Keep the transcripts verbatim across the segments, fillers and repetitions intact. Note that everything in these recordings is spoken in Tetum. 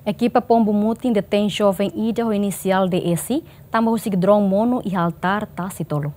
Ekipa Pombu Mutin detein joven ida ho inisiál D S, tanba husik drone monu iha altár Tasitolu.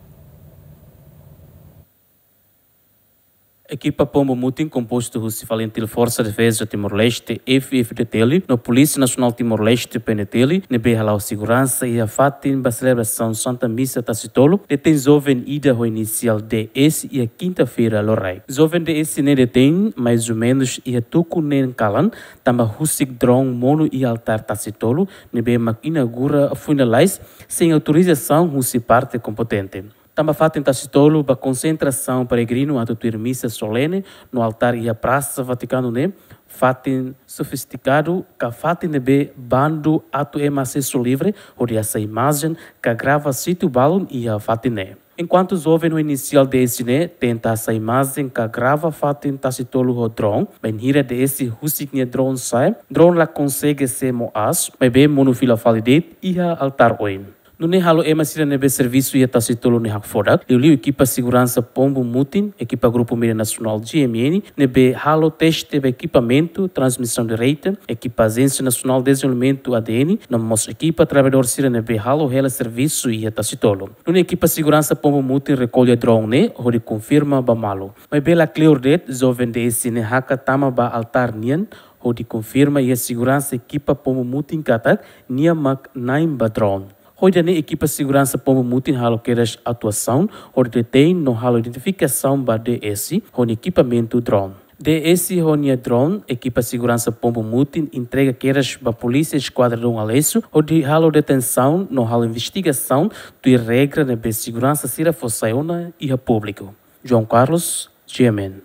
Ekipa Pombu Mutin kompostu husi FALINTIL, Forsa Defeza Timor-Leste, F F D T L, no Polísia Nasionál Timor-Leste, P N T L, ne'ebé hala'o seguransa iha fatin ba selebrasaun Santa Misa Tasitolu, detein joven ida ho inisiál D S iha kinta-feira loraik. Joven D S ne'e detein, mais ou menus, iha tuku neen kalan, tanba husik drone monu iha altár Tasitolu, ne'ebé mak inaugura foin lalais, sein autorizasaun husi parte kompetente. Tanba fatin Tasitolu ba konsentrasaun peregrinu atu tuir misa solene no altár iha Prasa Vatikanu ne'e, fatin sofistikadu ka fatin ne'ebé bandu atu ema asesu livre hodi hasai imajen ka grava situ balun iha fatin ne'e. Enkuantu joven ho inisiál D S ne'e tenta hasai imajen ka grava fatin Tasitolu ho drone, bainhira D S husik nia drone sa'e, drone la konsege sei mo'as, maibé monu fila fali de'it iha altár oin. Nune'e halo ema sira ne'ebé servisu iha Tasitolu ne'e hakfodak, liuliu ekipa seguransa Pombu Mutin, ekipa Grupu Média Nasionál G M N, ne'ebé halo teste ba ekipamentu transmisaun direta, ekipa Ajénsia Nasionál Dezenvolvimentu A D N, no mós ekipa traballadór sira ne'ebé halo hela servisu iha Tasitolu. Nune'e ekipa seguransa Pombu Mutin rekolla drone ne'e hodi konfirma ba malu. Maibé la kleur de'it joven D S ne'e hakat tama ba altár nian hodi konfirma iha seguransa ekipa Pombu Mutin katak nia mak na'in ba drone. Ho ida-ne'e ekipa seguransa Pombu Mutin halo kedas atuasaun hodi detein no halo identifikasaun ba D S ho nia ekipamentu drone. D S ho nia drone, ekipa seguransa Pombu Mutin entrega kedas ba Polísia Eskuadra Dom Aleixo hodi halo detensaun no halo investigasaun tuir regra ne'ebé seguransa sira fó sai ona iha públiku. João Carlos, G M N.